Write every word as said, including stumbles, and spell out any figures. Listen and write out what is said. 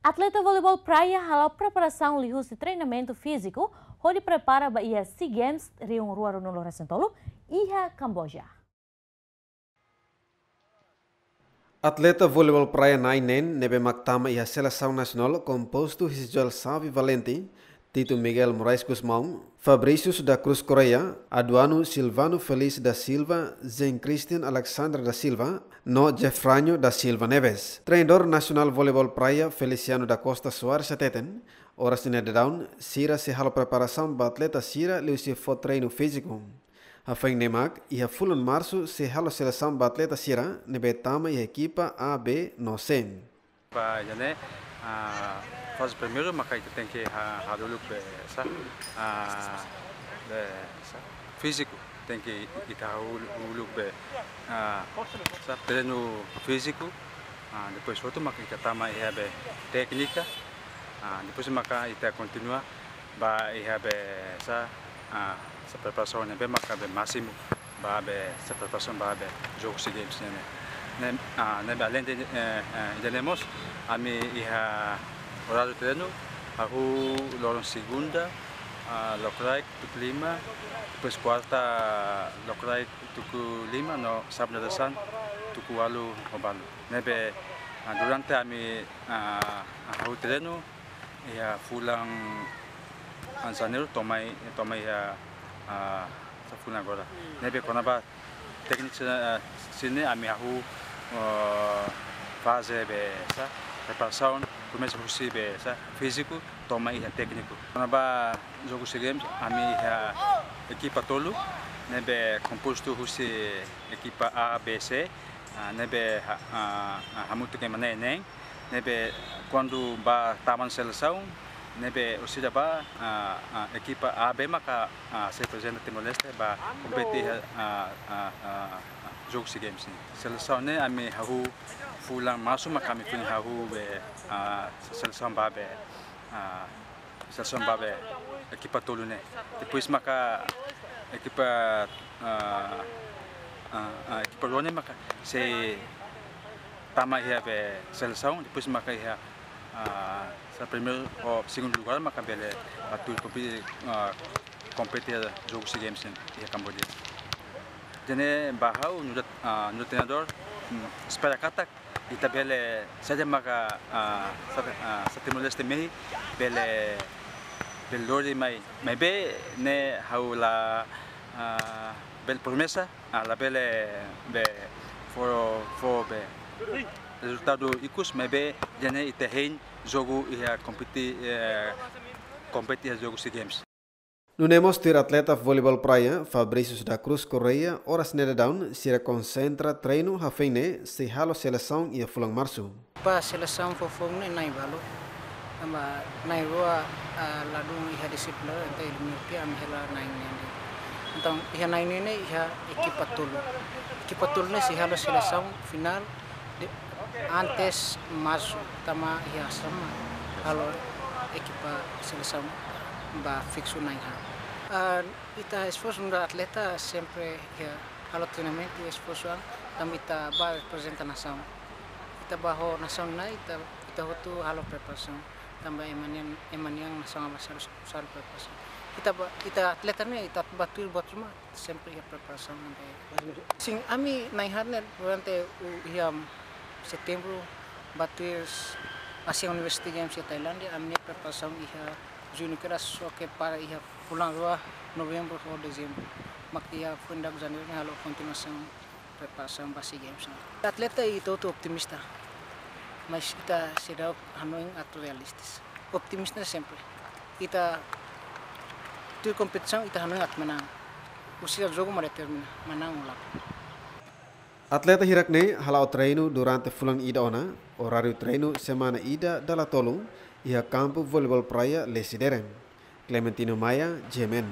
Atleta voleibol praia hala'o preparasaun liuhusi treinamentu fíziku hodi prepara ba iha SEA Games rihun rua ruanulu-resin-tolu iha Kamboja. Atleta voleibol praia na'in neen ne'ebé mak tama iha selesaun nasionál kompostu husi Joel Xavi Valente, Tito Miguel Moraes Gusmão, Fabricius da Cruz Correia, Aduano Silvano Feliz da Silva, Jean Christian Alexander da Silva, no Jefranho da Silva Neves. Treinadór nasionál voleibol praia Feliciano da Costa Soares hateten, oras ne'e daudaun sira sei halo preparasaun ba atleta sira liuhusi fó treinu fíziku. Hafoin ne'e mak, iha fulan Marsu sei halo selesaun ba atleta sira ne'ebé tama iha ekipa A, B no C. Ba ida-ne'e, ah, faze primeiru maka ita tenke ha-, haruka uluk be, sá, ah, be, sá, fíziku, tenke ita haruka uluk be, ah, sá, treinu fíziku, ah, depois hotu maka ita tama iha be téknika, ah, depois maka ita kontinua ba iha be sá, ah, sá preparasaun ne'ebé maka be másimu ba be sá preparasaun ba be jogu SEA Games ne'e. Ne'e, ah, ne'ebé aleinde, eh, eh, ida-ne'e mós, ami iha oráriu treinu, hahú loron segunda, ah, lokraik tuku lima, depois kuarta lokraik tuku lima, no sábadu dadeer-saan tuku ualu ho balu. Ne'ebé, ah, durante ami, ah, hahú treinu, iha fulan, ah, Janeiru to'o mai, to'o mai iha, ah, sá fulan agora. Ne'ebé kona-ba tékniku sira, ah, sira-ne'e ami hahú, ah, faze be sá, preparasaun, komesa husi be sá, fíziku, to'o mai iha tékniku. Kona-ba jogu SEA Games, ami iha ekipa tolu, ne'ebé kompostu husi ekipa A, B, C, ah, ne'ebé ha-, ah, ah, hamutuk ema na'in neen, ne'ebé kuandu ba tama ona selesaun, ne'ebé orsida ba, ah, ah, ekipa A, B maka, ah, sei reprezenta Timor-Leste ba kompete iha, ah, ah, ah, ah, jogu SEA Games ne'e. Selesaun ne'e ami hahú fulan Marsu maka ami foin hahú be, ah, selesaun ba be, ah, selesaun ba be ekipa tolu ne'e. Depois maka ekipa, ah, ah, ah, ekipa rua ne'e maka sei tama iha be selesaun, depois maka iha, ah, sá primeiru ou segundu lugár maka bele atu kompe-, ah, kompete jogu SEA Games ne'e iha Kamboja. Jadi ba ha'u nu'udar, ah, nu'udar treinadór, hmm, espera katak ita bele saida maka, ah, sá, ah, sá Timor-Leste mehi bele, bele lori mai, maibé ne'e ha'u la, ah, bele promesa, ah, labele be fó, fó be rezultadu ikus, maibé ida-ne'e ita hein jogu iha kompete, eh, kompete iha jogu SEA Games. Nune'e mós tuir atleta voleibol praia, Fabricius da Cruz Correia, oras ne'e daudaun sira konsentra treinu hafoin ne'e sei halo selesaun iha fulan Marsu. Ba selesaun fofoun ne'e na'in balu. Tanba na'in rua, ah, ladún iha disiplina, entaun eliminatoria ami hela na'in neen. Entaun iha na'in neen ne'e iha ekipa tolu. Ekipa tolu ne'e sei halo selesaun finál de, antes Marsu, tanba iha sama halo ekipa selesaun ba fiksu na'in haat. Ah, ita esforsu nu'udar atleta sempre iha halo treinamentu, esforsu an, tanba ita ba reprezenta nasaun. Ita ba ho nasaun ne'e, ita, ita hotu halo preparasaun. Tanba ema nian, ema nian nasaun avansa harus halo preparasaun. Ita ba, ita atleta ne'e, ita ba tuir buat ruma, sempre iha preparasaun ne'ebé. Sin, ami na'in haat ne'e durante u-, iha setembru ba tuir ASEAN University Games iha Tailándia, ami-nia preparasaun iha juñu kedas, só ke para iha fulan rua, novembru ho dezembru. Mak iha fulan Janeiru ne'e halo kontinuasaun preparasaun ba SEA Games ne'e. Atleta ita hotu optimista, mas ita seidauk hanoin atu realistis. Optimista sempre. Ita tuir kompetisaun ita hanoin atu manán. Husi jogu mak determina manán ou lae. Atleta hirak ne'e hala'o treinu durante fulan ida ona, oráriu treinu semana ida dala tolu, iha kampu voleibol praia Lecidere. Clementino Maia, G M N.